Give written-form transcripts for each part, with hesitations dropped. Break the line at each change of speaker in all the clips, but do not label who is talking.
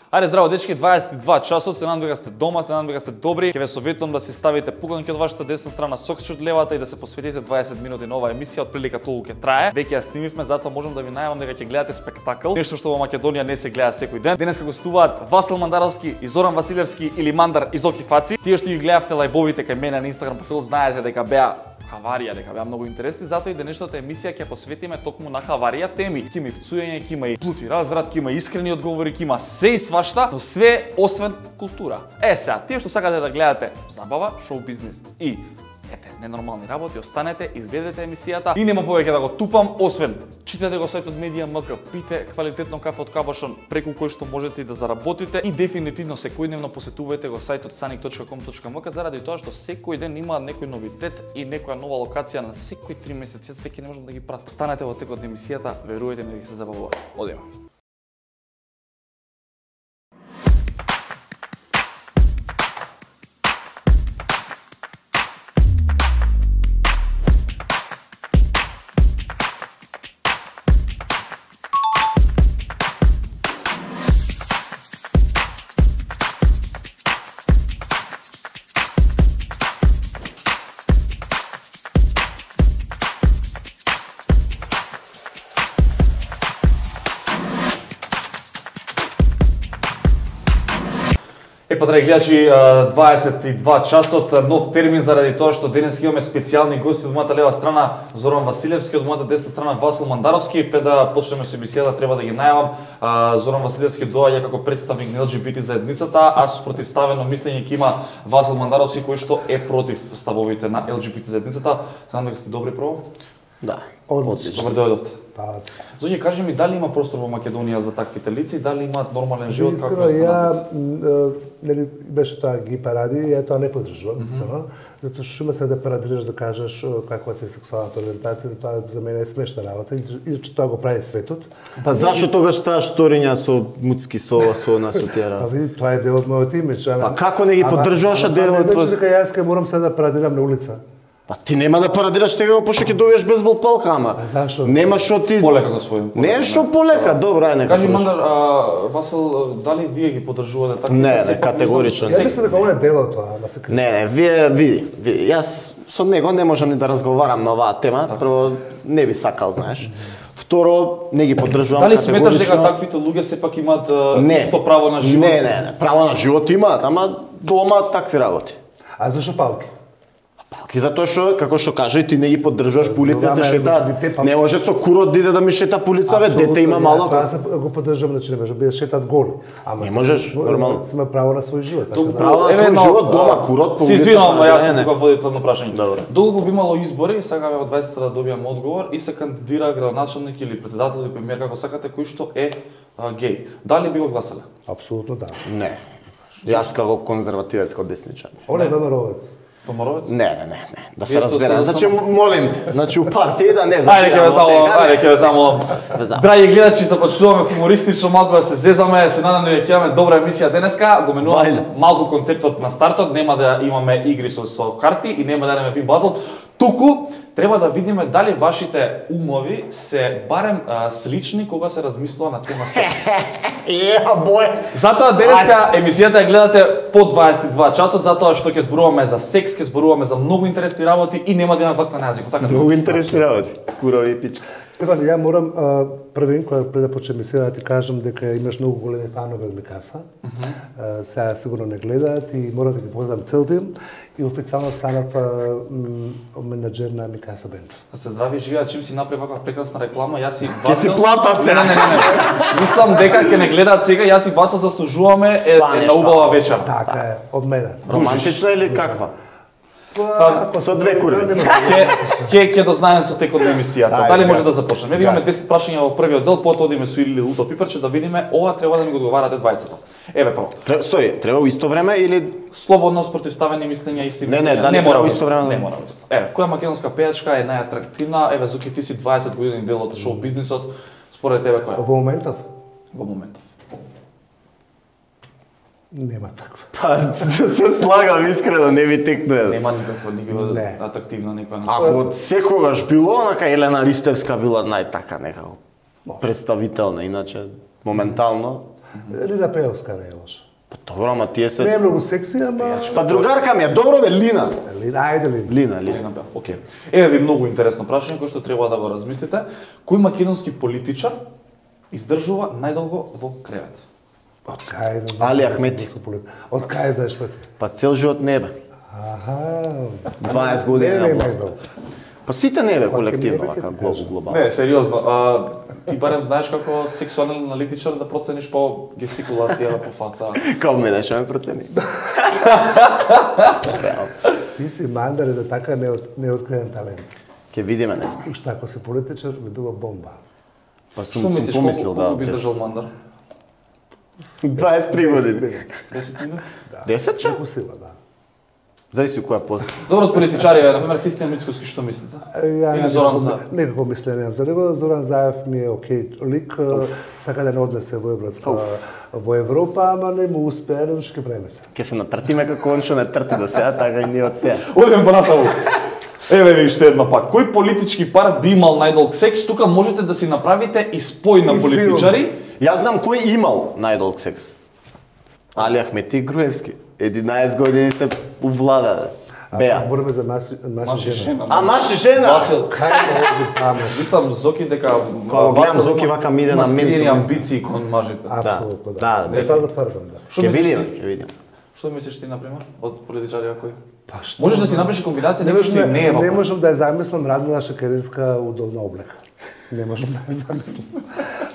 Ајде здраво дечки, 22 часот, се надам дека сте дома, се надам дека сте добри. Ќе ве советувам да си ставите пуганки од вашата десна страна, сокче од левата и да се посветите 20 минути на оваа емисија, од прилика толку ќе трае. Веќе ја снимивме, затоа можам да ви најавам дека ќе гледате спектакл, нешто што во Македонија не се гледа секој ден. Денеска гостуваат Васил Мандаровски и Зоран Василевски или Мандар из Оки Фаци. Тие што ги гледавте лајвовите кај мене на Инстаграм профил знаете дека беа хаварија, дека беа многу интересни, затоа и денешната емисија ќе посветиме токму на хаварија теми. Ќе има и пцуење, ќе има и плути разврат, ќе има искрени одговори, ќе има се и свашта, но све освен култура. Сега, тие што сакате да гледате забава, шоу бизнес и ненормални работи, останете, изгледате емисијата и нема повеќе да го тупам, освен читате го сајтот Медија.мк, пите квалитетно кафе од Кабашон, преку кој што можете и да заработите и дефинитивно секојдневно посетувате го сајтот sanic.com.mk заради тоа што секој ден има некој новитет и некоја нова локација на секои 3 месеци, јас веќе не можам да ги пратам. Останете во текот на емисијата, верувајте ми, ќе се забавувате. Одиме. Драги гледачи, 22 часот, нов термин заради тоа што денес имаме специјални гости од мојата лева страна Зоран Василевски, од мојата десна страна Васил Мандаровски. Пред да почнеме со емисијата треба да ги најавам. Зоран Василевски доаѓа како представник на ЛГБТ заедницата, а со противставено мислење ќе има Васил Мандаровски кој што е против ставовите на ЛГБТ заедницата. Знам дека сте добри прво?
Да.
Одлично. Добре дојдовте. Зоње, кажи ми, дали има простор во Македонија за таквите лица, дали имаат нормален живот?
Искрено, ја беше тоа ги паради, ја тоа не поддржувам, искрено, затоа што има се да парадираш да кажеш каква ти е сексуалната ориентација, затоа за мене е смешна работа и че тоа го прави светот.
Па зашто тогаш таа сториња со муцки сова со нас отера?
Па види, тоа е дел од мојот имидж.
Па како не ги поддржуваш дел од
тоа? Дека јас ке морам сега да парадирам на улица.
Па ти нема да парадираш сега пошто ќе добиеш безбол палка, ама.
Зашо?
Нема што ти
полека господин.
Не што полека, добро, ај нека.
Кажи Мандар, Васил, дали вие ги поддржувате така?
Не, категорично.
Ја мислам дека он е дел од тоа, ама се.
Не, вие види, јас со него не можам ни да разговарам на оваа тема, прво не би сакал, знаеш. Второ, не ги поддржувам
категорично. Дали сметаш дека таквите луѓе сепак имаат исто право на живот?
Не, право на живот имаат, ама дома такви работи.
А зашо палки?
Палки затоа што, како што кажа, ти не ги поддржуваш по улица, се шетаат. Не може со курот да иде да ми шета по улица, бе, дете има мало.
Јас го поддржувам, значи не може да шетаат голи. Ама
не можеш, нормално.
Има право на свој живот.
Право на свој живот, дома курот по улица.
Си извинувам, јас сум тука водително прашање. Долго би имало избори, сакаме во 20 да добијаме одговор и се кандидира градоначелник или председател или премиер како сакате кој што е геј. Дали би го гласале?
Апсолутно да.
Не. Јас како конзервативец, како десничар.
Он е ВМРО-вец.
Помаровец?
Не. Да се разбереме. Значи молим те. Значи у партија да не
Ајде ќе ве замолам. Драги гледачи, започнуваме хумористично, малку да се зезаме, се надам дека ќе имаме добра емисија денеска. Го менуваме малку концептот на стартот, нема да имаме игри со карти и нема да имаме пин базл. Туку треба да видиме дали вашите умови се барем слични кога се размислува на тема секс. Затоа денеска емисијата ја гледате по 22 часот, затоа што ќе зборуваме за секс, ќе зборуваме за многу интересни работи и нема да има вакна на јазикот. Така
многу интересни работи. Курови и пички.
Стефан, ја морам првин кој пред да почнеме сега да ти кажам дека имаш многу големи фанови од Микаса. Сега сигурно не гледаат и морам да ги поздравам цел тим и официјално станав менаџер на Микаса бенд.
Да се здрави живеа, чим си направи ваква прекрасна реклама, јас и
Васил. Ќе си платат сега.
Не. Мислам дека ќе не гледаат сега, јас и Васил заслужуваме една убава вечер.
Така е, од мене.
Романтична или каква? Со две кури.
Ќе дознаеме со текот на емисијата. Дали може да започнеме? Еве имаме 10 прашања во првиот дел, потоа одиме со Или Луто Пиперче да видиме ова треба да ми го одговарате двајцата. Еве прво.
Стои, треба во исто време или
слободно спротивставени мислења, исти мислења?
Не мора во исто време.
Не мора во исто. Еве, која македонска пејачка е најатрактивна? Еве, Зуки, ти си 20 години дел од шоу бизнисот. Според тебе која?
Во моментов?
Во моментов.
Нема таква.
Па, се слагам искрено, не ви текнуе.
Нема никаква атрактивна некоја.
Ако од секогаш било, онака Елена Ристевска била најтака некако представителна, иначе моментално.
Лина Пеевска не е лоша.
Па добро, ама тие се...
Не е многу секси, ама...
Па другарка ми е, добро бе, Лина.
Лина, ајде Лина.
Лина.
Океј. Еве ви многу интересно прашање кој што треба да го размислите. Кој македонски политичар издржува најдолго во кревет?
Од кај да...
Али Ахмети.
Од кај да ешмети?
Па цел живот не бе.
Аха.
20 години на власт.
Не,
Па сите не бе колективно,
не бе,
вака
ќе ти
глобално.
Не, сериозно. Ти барем знаеш како сексуален аналитичар да процениш по гестикулација, по фаца.
Како мене што ме процени?
Ти си мандар да така неоткриен талент.
Ке видиме нешто.
Уште ако си политичар би било бомба.
Па
Што
сум
мислиш,
помислил
колку би
да.
издржал мандар?
23 години.
10 минути?
10 че?
Како сила, да.
Зависи која после.
Добро, од политичари, например, Христијан Мицкоски, што мислите? Или Зоран Заев?
Некако мислење немам за него. Зоран Заев ми е окей лик, сака да не однесе во во Европа, ама не му успеа, но ќе правиме се.
Ке се натртиме како он што не трти до сега, така и ние од сега.
Одиме понатаму. Еве ви уште една пак. Кој политички пар би имал најдолг секс? Тука можете да си направите и спој на
И
политичари.
Јас знам кој имал најдолг секс. Али Ахмети Груевски. 11 години се увлада. Беа.
Збориме за наши жена.
А маж и жена?
Васил.
Кај да памет.
Мислам Зоки дека
Кога гледам Зоки вака ми иде на
скриени
ментор.
амбиции кон мажите.
Апсолутно,
Да,
да. Тоа го тврдам, да.
Што
Ке
мислиш
видиме,
ти?
ке видиме.
Што мислиш ти, например, од политичари кој?
Па што?
Можеш да си направиш комбинација некој што и не е
Не
во.
можам да ја замислам Радмила Шекеринска удобна облека. Не можам да ја замислам.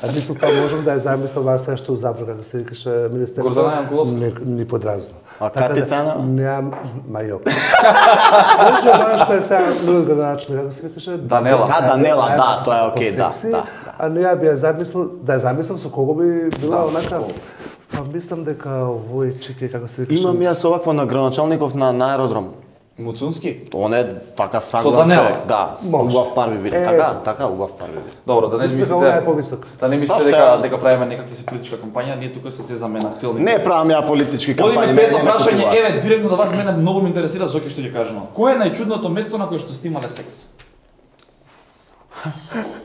А ниту па можам да ја замислам вас што у задрога да се викаше министерство.
Гордана Јанкуловска?
Ни подразно.
А Катица Ана?
Немам мајок. Може да што е сега многу граначно, како се викаше?
Данела.
А, Данела, да, тоа е окей, да,
По-секси,
да.
А не ја би ја замислил, да ја замислам со кого би била онака. Па мислам дека овој чеке како се викаше.
Имам јас овакво на граначалников на аеродром.
Муцунски?
Он е така
Со
саглав
Данела?
човек. Да,
Може.
убав пар би биле. Така, убав пар би биле.
Добро, да не
Мислите дека
мислите.
она е повисок.
Да не мислите
Па,
дека
сега-
дека правиме некаква си политичка кампања, ние тука се зезаме на актуелни.
Не правам ја политички кампањи.
Одиме
мене
пето
не ме
прашање,
купува.
еве директно до вас, мене многу ме интересира Зоки што ќе каже. Кој е најчудното место на кое што сте имале секс?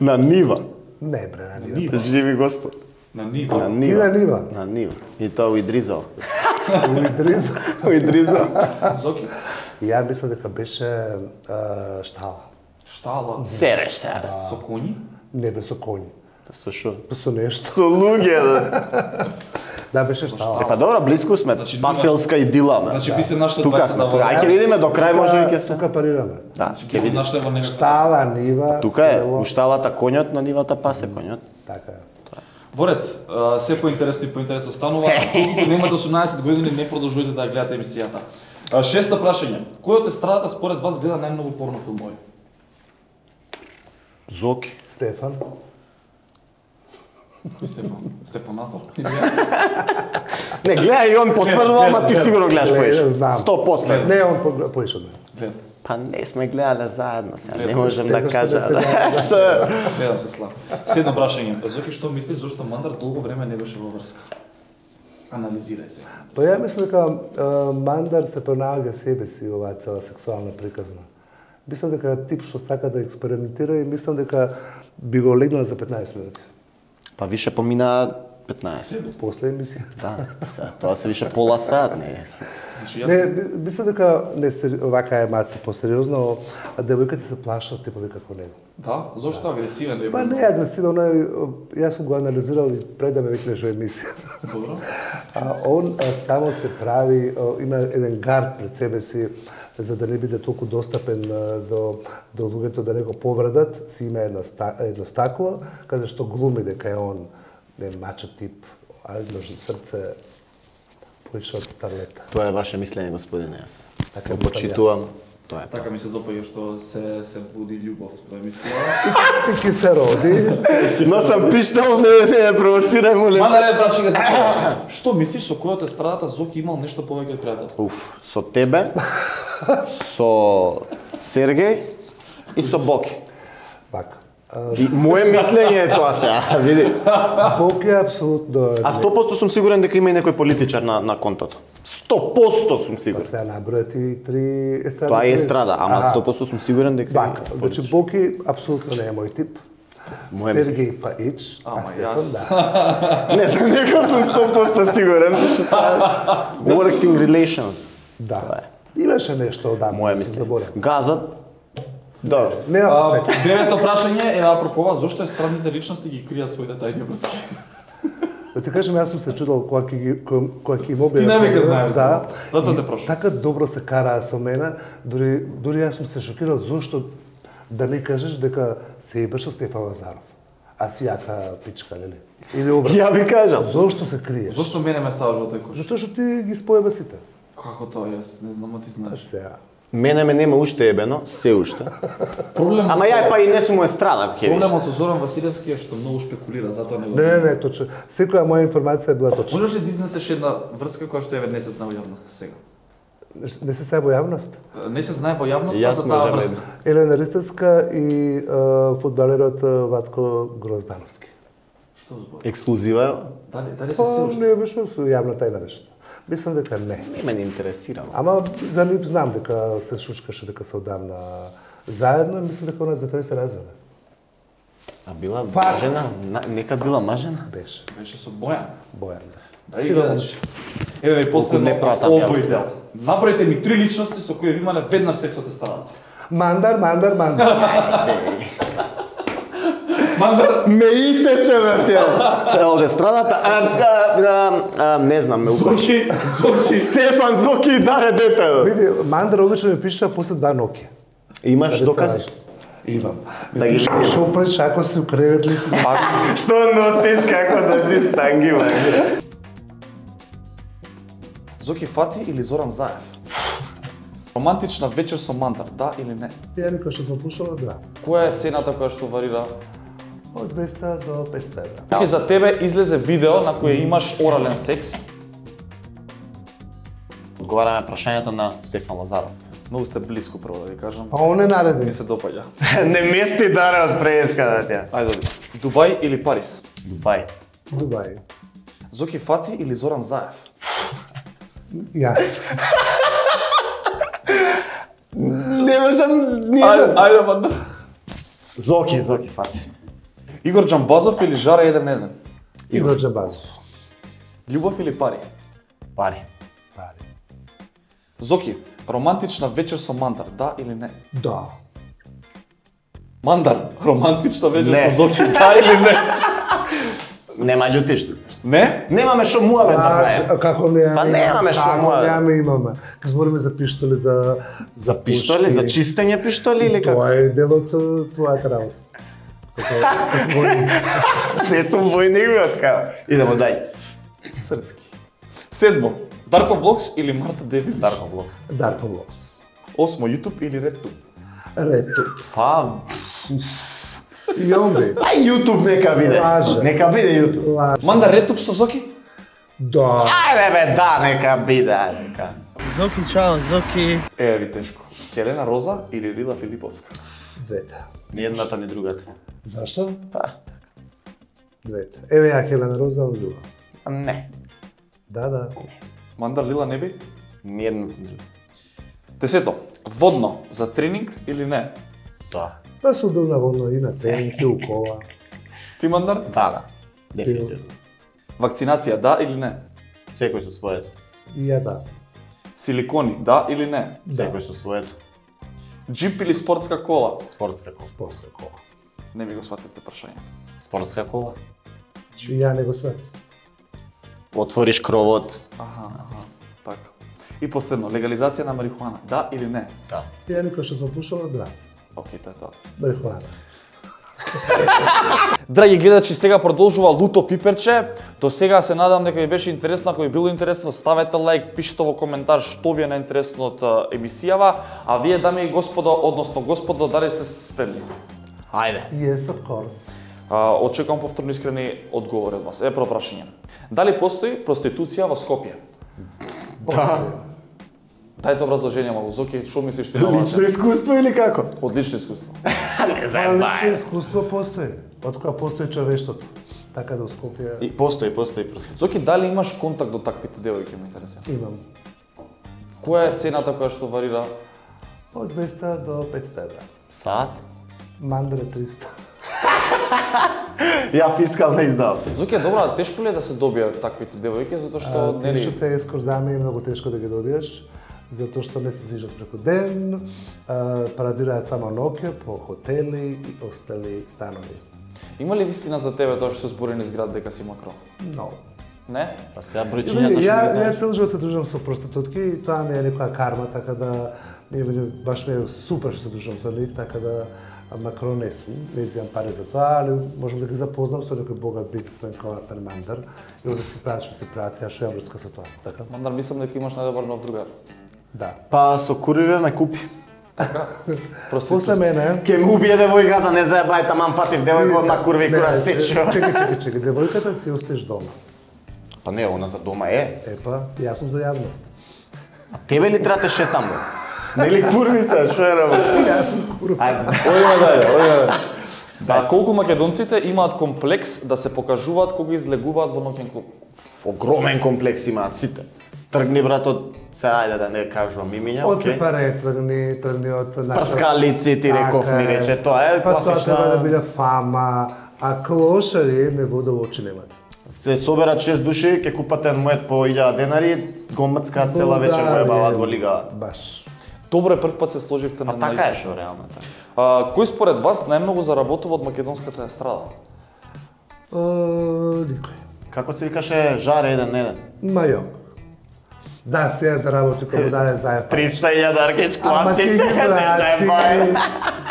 На нива.
Не бре, на нива.
Живи Господ.
На нива.
На
Ти
нива.
на нива.
На нива. И тоа у Идризал.
Уидризо.
У Идризал.
Зоки.
Ја мисля дека беше штала.
Штала.
Сереш се.
Со коњи?
Не бе со коњ.
Со шо?
Со нешто.
Со луѓе. Да.
Да, беше штала.
Па добро, близко сме.
Значи,
Паселска идила, ме.
Значи ви се нашли
Тука
двајцата
сме.
во.
Тука. Ај ќе видиме до крај може би ќе се.
Тука парираме.
Да,
Значи
ќе
ви се
видиме.
нашли во некаква.
Штала, нива,
Тука е,
село.
у шталата конјот, на нивата пасе конјот.
Така е.
Воред, се поинтересно и поинтересно станува. Доколку немате 18 години, не продолжувајте да ја гледате емисијата. Шесто прашање. Кој од естрадата според вас гледа најмногу порно филмови?
Зоки.
Стефан.
Кој Стефан? Стефанатор?
Не, гледај и он потврдува, ама ти
гледам.
сигурно гледаш
Гледам,
поише.
знам.
100%.
Не, он поише од мене.
Гледам.
Па не сме гледале заедно сега, не
Гледам.
можем да
Дека што
кажа.
не сте гледали.
Што е?
Гледам се слав. Седно прашање. Зоки, што мислиш зошто Мандар долго време не беше во врска? Анализирај се.
Па ја мислам дека Мандар се пронаоѓа себе си оваа цела сексуална приказна. Мислам дека тип што сака да експериментира и мислам дека би го легнал за 15 минути.
Па више помина 15.
После емисија.
Да, сега, тоа се више пола сат, не.
Значи, јас...
Не, мислам дека не вака е маца посериозно, а девојките се плашат типови како него.
Да? Зошто агресивен е?
Па не е агресивно, јас сум го анализирал и пред да ме викнеш во емисија.
Добро.
Он само се прави, има еден гард пред себе си, за да не биде толку достапен до луѓето да не го повредат, си има едно стакло, каде што глуми дека е он не мачо тип, а може срце поише од старлета.
Тоа е ваше мислење, господине, јас.
Така
Го
мислам
почитувам. Тоа е тоа.
Така ми се допаѓа што се буди љубов во емисија.
И ки се роди.
Но сам пиштал, не провоцирај, молим.
Мандаре, брачи га знам. Што мислиш со кој од естрадата Зоки имал нешто повеќе од пријателство?
Уф, со тебе, со Сергеј и со Боки.
Вака.
И мое мислење е тоа сега, види.
Бог е апсолутно...
А 100% сум сигурен дека има и некој политичар на контото. 100% сум сигурен.
Сега набројат и 3 естради.
Тоа е естрада, ама 100% сум сигурен дека
Вака, значи Боки апсолутно не е мој тип. Сергеј Паич, а Стефан да.
Не, за него сум 100% сигурен, што са working relations.
Да. Имаше нешто одамна.
Моја мисли. Газот. Добро.
Нема се.
Девето прашање е апропо ова, зошто естрадните личности ги кријат своите тајни врски?
Да ти кажам, јас сум се чудел кога ќе им објавам.
Ти не века знаеш.
Да.
Затоа те прашам.
Така добро се караа со мене, дури јас сум се шокирал зошто да не кажеш дека се ебеш со Стефан Лазаров. А си јака пичка, нели? Или обратно.
Ја ви кажам.
Зошто се криеш?
Зошто мене ме ставаш во тој кош?
Затоа што ти ги споеба сите.
Како тоа јас не знам, а ти знаеш.
Сега.
Мене ме нема уште ебено, се уште.
Проблемот
Ама ја па и не сум естрада, ако ќе
Проблемот со Зоран Василевски е што многу шпекулира, затоа не го.
Не, точно. Секоја моја информација била точна.
Можеш ли да изнесеш една врска која што е не се знае во јавноста сега?
Не се се во јавност.
Не се знае во јавноста
Јас
за
сме
таа
одамна
врска.
Елена Ристевска и фудбалерот Ватко Гроздановски.
Што збори?
Ексклузива е.
Дали се
Па,
се уште?
не беше со јавна тајна беше. Мислам дека не.
Не ме не интересира.
Ама за нив знам дека се шушкаше дека се одамна заедно и мислам дека она за тој се разведе.
А била
Факт.
мажена? Некад била мажена?
Беше.
Беше со Бојан.
Бојан.
Да и гледаш. Еве ви последно
не пратам
овој
јас.
дел. Направете ми 3 личности со кои ви имале веднаш секс од естрадата.
Мандар.
Мандар,
Ме исече на тие. Од естрадата, не знам, ме укачи.
Зоки.
Стефан Зоки и Даре дете.
Види, Мандар обично ми пиша после 2 ноки.
Имаш докази?
Имам.
Да ги видиш.
Што правиш ако си у кревет ли си?
Што носиш, како носиш танги, бе?
Зоки Фаци или Зоран Заев? Романтична вечер со Мандар, да или не?
Ја никој што сум пушала, да.
Која е цената која што варира?
Од 200 до 500 евра.
Зоки, за тебе излезе видео на кој имаш орален секс.
Одговараме прашањето на Стефан Лазаров.
Многу сте блиску, прво да ви кажам.
Па он е
Ми
наредни.
се допаѓа.
Не мести Даре од преска на тя.
Ајде, Дубај или Париз?
Дубај.
Дубај.
Зоки Фаци или Зоран Заев?
Јас.
Не можам ниједен.
Ајде, Мандар.
Зоки Фаци.
Игор Џамбазов или Жара 1-1?
Игор Џабазов.
Љубов или пари?
Пари.
Пари.
Зоки, романтична вечер со Мандар, да или не?
Да.
Мандар, романтична вечер
Не.
со Зоки, да или не?
Нема љутиш тука.
Не?
Немаме што муаве да правиме.
Како не?
Па немаме што
Како
муаве.
имаме. Ка збориме за пиштоли, за
Пиштоли,
пушки.
за чистење пиштоли или како?
Тоа е дел од твојата работа. Како
Не сум војник бе откава. Идемо дај.
Срцки. Седмо, Дарко Влогс или Марта Девилич?
Дарко Влогс.
Дарко Влогс.
Осмо, YouTube или RedTube?
Рето.
Па,
И он бе.
ај YouTube нека биде.
Лаже.
Нека биде YouTube.
Лаже.
Мандар RedTube со Зоки?
Да.
Ајде бе, да, нека биде, ајде ка.
Зоки, чао, Зоки.
Еве ви тешко. Хелена Роза или Лила Филиповска?
Двете.
Ни едната, ни другата.
Зашто?
Па,
Двете. Еве ја Хелена Роза, он Лила.
не.
Да.
Мандар Лила не би?
Ни едната, ни другата.
Десето, водно за тренинг или не?
Да.
Па сум бил на водно и на тренинг и у кола.
Ти, Мандар?
Да. Дефинитивно.
Вакцинација, да или не?
Секој со своето.
И ја да.
Силикони, да или не?
Секој со своето.
Джип или спортска кола?
Спортска кола.
Спортска кола.
Не ми го свативте прашањето.
Спортска кола.
И ја не го све.
Отвориш кровот.
Аха, така. И последно, легализација на марихуана, да или не?
Да.
Ја никој што сум пушала, да.
Океј, тоа е тоа.
Марихуана.
Драги гледачи, сега продолжува Луто Пиперче. До сега се надам дека ви беше интересно, ако ви било интересно, ставете лайк, пишете во коментар што ви е најинтересно од емисијава, а вие, дами и господо, односно господо, дали сте спремни?
Ајде.
Yes, of course.
Очекувам повторно искрени одговори од вас. Прво прашање. Дали постои проституција во Скопје? Дајте образложение, малку. Зоки, што мислиш ти на ова?
Лично искуство или како?
Одлично искуство.
Не
Па лично искуство постои. Од кога постои човештвото. Така да у Скопје
И постои проституција.
Зоки, дали имаш контакт до таквите девојки, ме интересира?
имам.
Која е цената која што варира?
Од 200 до 500 евра.
Саат?
Мандре 300.
Ја фискална издав.
Зоки е добра, тешко ли е да се добијат таквите девојки, затоа што нели
Тешко се ескорт дами е многу тешко да ги добиеш, затоа што не се движат преку ден, парадираат само ноќе по хотели и остали станови.
Има ли вистина за тебе тоа што се збори низ град дека си макро?
Но.
Не?
Па сега бројчињата што
Ја цел живот се дружам со проститутки и тоа ми е некоја карма, така да баш ми е супер што се дружам со нив, така да макро не сум, не изјам пари за тоа, али можам да ги запознам со некој богат бизнисмен како Артен Мандар и да си прават што си прават, ја што ја врска со тоа, така?
Мандар, мислам дека имаш најдобар нов другар.
Да.
Па со куриве ме купи.
После мене
Ке му убие девојката, не заебај, таман фатив девојка на курви кура сечо.
Чекај, девојката си остеш дома.
Па не, она за дома е.
Епа, јас сум за јавност.
А тебе ли треба те шетам, бе? Нели курви се, што е работа?
Јас сум курва.
Ајде.
Ојде дале. Да, колку македонците имаат комплекс да се покажуваат кога излегуваат во ноќен клуб?
Огромен комплекс имаат сите. Тргни брат од ајде да не кажувам имиња,
Од
окей.
сепаре тргни од
Прскалици ти реков ми рече, тоа е
Па тоа треба да
класична.
биде фама, а клошари не вода во очи немат.
Се соберат 6 души, ќе купат еден моет по 1000 денари, го мцкаат цела вечер го ебаваат во лига.
Баш.
Добро е прв пат се сложивте
Па
на
така е што реално така.
Кој според вас најмногу заработува од македонската естрада?
Никој.
Како се викаше Жаре еден на еден?
Мајок. Да, сега заработи кога даде зајефа.
300.000 аркеч
Ама
клапче.
ќе ги врати.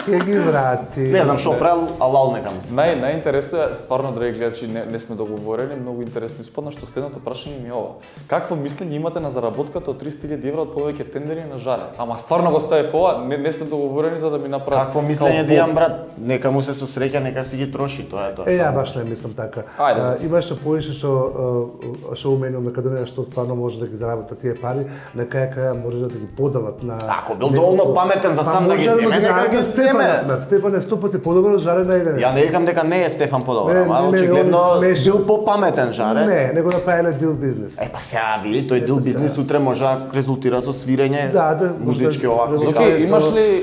Ќе ги врати.
Не знам што правил, алал нека му се.
Најинтересно е, стварно, драги гледачи, не сме договорени, многу интересно испадна, што следното прашање ми е ова. Какво мислење имате на заработката од 300.000 евра од повеќе тендери на Жаре? Ама стварно го стави ова, не сме договорени за да ми направат.
Какво мислење да имам брат? Нека му се сосреќа, нека си ги троши, тоа е тоа.
Ја баш не мислам така.
Ајде,
Имаше поише што умени од Македонија што стварно може да ги заработат тие пари, на крај може да ги поделат на.
Ако бил доволно паметен за сам да ги земе, нека ги земе.
Стефан е 100 пати подобар од Жаре на еден.
Ја не викам дека не е Стефан подобар,
Не,
ама
не,
очигледно
он смешен.
бил попаметен Жаре.
Не, него направиле дил бизнес.
Па сега види, тој дил бизнис утре може да резултира со свирење.
Да,
музички овако.
Зоки,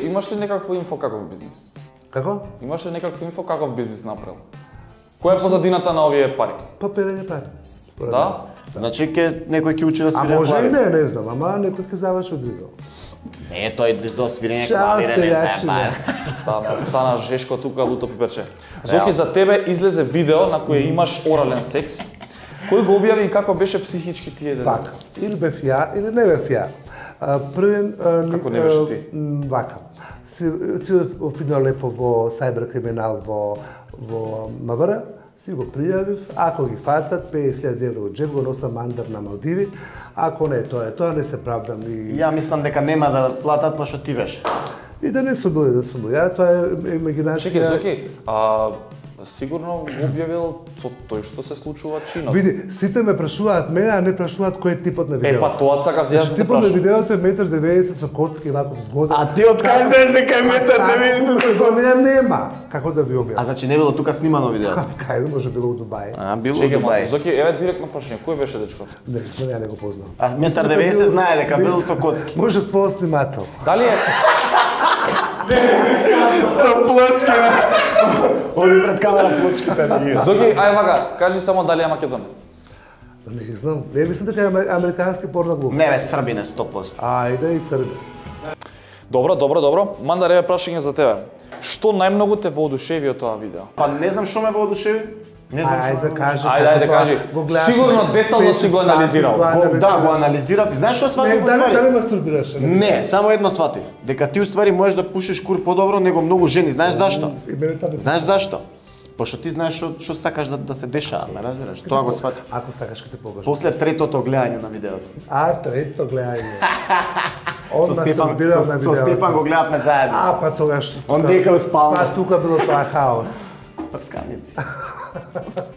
имаш ли некакво инфо каков бизнис?
Како?
Имаш ли некакво инфо каков бизнис направил? Која е позадината на овие пари?
Па перење пари. според
Да?
мене.
Значи некој ќе учи да
А
свири
може и
клавир.
не знам, ама некој ќе заврши од Ризо.
Не, тој за свирење
Чао,
клавире не
селјачине.
знае.
Стана жешко тука луто пиперче. Зоки, за тебе излезе видео на кој имаш орален секс. Кој го објави и како беше психички тие деца?
Така, или бев ја, или не бев ја. Првен...
Како не беше ти?
Вака. Си фино лепо во сајбер криминал во МВР, си го пријавив, ако ги фатат, 50.000 евро во джеб, го носам мандар на Малдиви, ако не, тоа не се правдам и...
Ја мислам дека нема да платат, па што ти беше.
И да не сум бил, да сум бил. Ја, тоа е имагинација...
Чекај, Зоки, сигурно го објавил со тој што се случува чинот.
Види, сите ме прашуваат мене, а не прашуваат кој е типот на видеото.
Па тоа сакав јас
Значи,
да те
типот на
прашам.
видеото е 1,90 м со коцки ваков згоден.
А ти од кај знаеш дека е метар 90
Го не нема. Како да ви
А
објаснам?
значи не било тука снимано видеото.
Кај може било у Дубај.
А, било
Чекај,
Дубај.
Зоки, еве директно прашање, кој беше дечкото?
Не, знам, ја не го познам.
А метар 90 знае дека бил со коцки.
Може твој снимател.
Дали е
Со плочки, оди пред камера плочките на ги.
Зоки, ај вака, кажи само дали е македонец.
Не знам. Не мислам дека е американски порно глуп.
Не бе, Србин е 100%.
Ајде и Срби.
Добро. Мандар, еве прашање за тебе. Што најмногу те воодушеви од тоа видео?
Па не знам што ме воодушеви. Не знам што.
Ајде кажи
Ајде,
како
кажи.
тоа го гледаш.
Сигурно детално си го анализирал.
Да, го анализирав. И знаеш што сватив
Не,
во
дали
ствари?
мастурбираш?
Не, само едно сватив. Дека ти уствари можеш да пушиш кур подобро него многу жени. Знаеш зашто?
И мене тоа.
Знаеш зашто? Пошто ти знаеш што сакаш да се дешава, ме разбираш? Тоа го сватив.
Ако сакаш ќе те покажам.
После третото гледање на видеото.
Трето гледање. Он
Со Стефан,
мастурбирал на
со
видеото.
Стефан го гледавме заедно.
Па тогаш...
Он дека успална.
Па тука било тоа хаос.
Прсканици.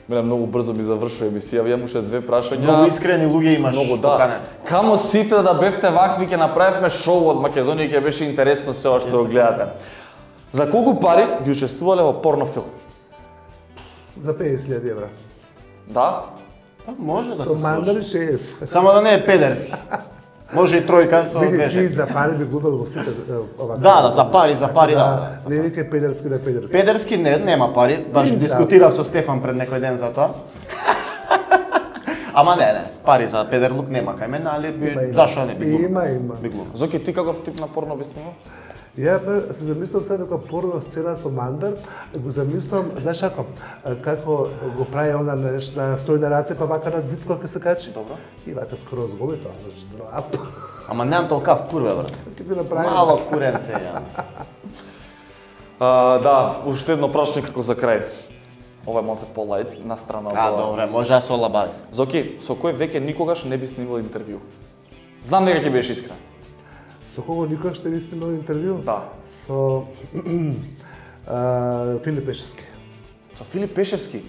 Мене многу брзо ми завршува емисија, ја имаше две прашања.
Многу искрени луѓе имаш.
Многу да.
поканени.
Камо сите да бевте вакви, ќе направивме шоу од Македонија, ќе беше интересно се ова што го гледате. За колку пари ги учествувале во порнофилм?
За 50.000 евра.
Да?
Па може да
Со
се
мандари
случи.
60.
Само да не е педерски. Може и тројка со
Види, ти
две.
за пари би глумел во сите ова.
Да, за пари, да.
Не викај педерски да педерски.
Педерски нема пари, баш дискутирав со Стефан пред некој ден за тоа. Ама не, пари за педерлук нема кај мене, али зашо не би глумел?
Има.
Би глумел.
Зоки, ти каков тип на порно би снимал?
Ја се замислам сега дека порно сцена со Мандар, го замислам, знаеш како го прави она на стои на раце, па вака на зид кога се качи.
Добро.
И вака скроз го тоа, знаеш, драп.
Ама немам толкав курве, брат.
Ке ти направи.
Мало куренце ја.
Да, уште едно прашање како за крај. Ова е малце по-лајт, на страна од ова.
Добре, може да се олабави.
Зоки, со кој веќе никогаш не би снимал интервју? Знам дека ќе беше искрен.
Со кого никогаш не би снимал интервју?
Да.
Со Филип Пешевски.
Со Филип Пешевски?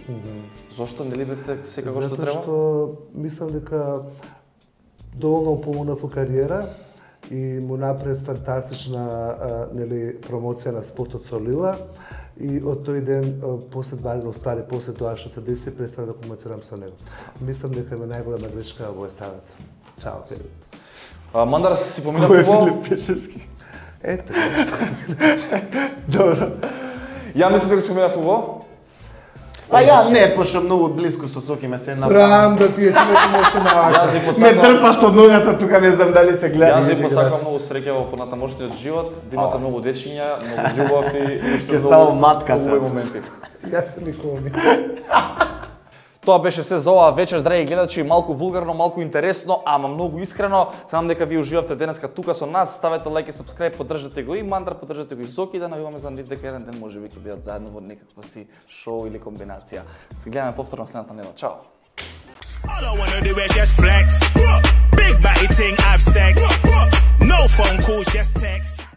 Зошто не бидете секако што треба?
Затоа што мислам дека доволно помогнав во кариера и му направи фантастична промоција на спотот со Лила. И од тој ден, после 2 дена, оствари, после тоа што се деси, престана да комуницирам со него. Мислам дека ми најголема грешка во естрадата. Чао, Филип.
Мандар си помина фудбал?
Пешевски?
Ете.
Добро.
Ја мислам дека спомена фудбал?
Па ја не, пошто многу близко со Соки ме се
Срам да ти е човек може на вака.
Јас ви
Ме
посакувам-
трпа со ногата, тука не знам дали се гледа.
Јас ви посакувам многу среќа во понатамошниот живот, да имате многу дечиња, многу љубов и
Ќе ставам матка
убави
се.
моменти.
Јас никога не.
Тоа беше се за оваа вечер, драги гледачи, малку вулгарно, малку интересно, ама многу искрено. Знам дека ви уживавте денеска тука со нас. Ставете лајк и сабскрајб, поддржате го и Мандар, поддржате го и Зоки, да најуваме за нив дека еден ден можеби ќе бидат заедно во некаква си шоу или комбинација. Се гледаме повторно следната недела. Чао.
All I wanna do is just flex. Big body ting, have sex. No phone calls, just text.